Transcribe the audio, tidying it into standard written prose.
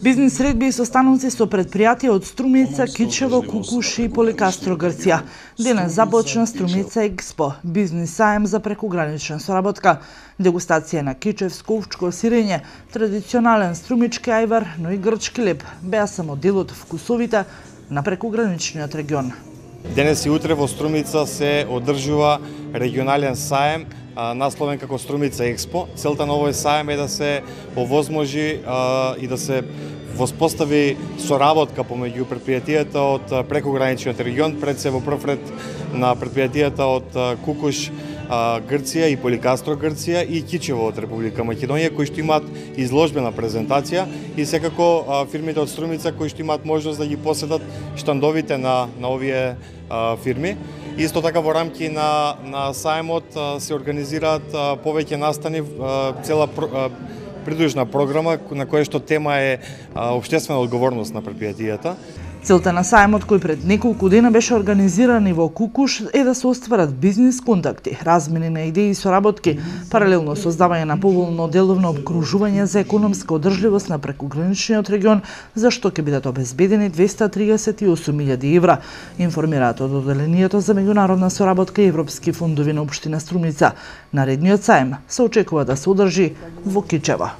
Бизнис средби и состаноци со предпријатија од Струмица, Кичево, Кукуш и Поликастро, Грција. Денес започна Струмица Експо, бизнис саем за прекугранична соработка, дегустација на кичевско овчко сирење, традиционален струмички ајвар, но и грчки леп беа само дел од вкусовите на прекуграничниот регион. Денес и утре во Струмица се одржува регионален саем, насловен како Струмица Експо. Целта на овој саем е да се овозможи и да се воспостави соработка помеѓу предпријатијата од прекуграничниот регион, пред се во прв ред на предпријатијата од Кукуш, Грција и Поликастро, Грција и Кичево од Република Македонија, кои што имаат изложбена презентација и секако фирмите од Струмица кои што имаат можност да ги посетат штандовите на овие фирми. Исто така во рамки на саемот се организираат повеќе настани, цела придружна програма на која што тема е општествена одговорност на предпријатијата. Целта на саемот, кој пред неколку дена беше организиран и во Кукуш, е да се остварат бизнис контакти, размени на идеи и соработки, паралелно создавање на поволно деловно обкружување за економска одржливост на прекуграничниот регион, за што ќе бидат обезбедени 238.000 евра, информираат од Оделението за меѓународна соработка и европски фондови на општина Струмица. Наредниот саем се очекува да се одржи во Кичево.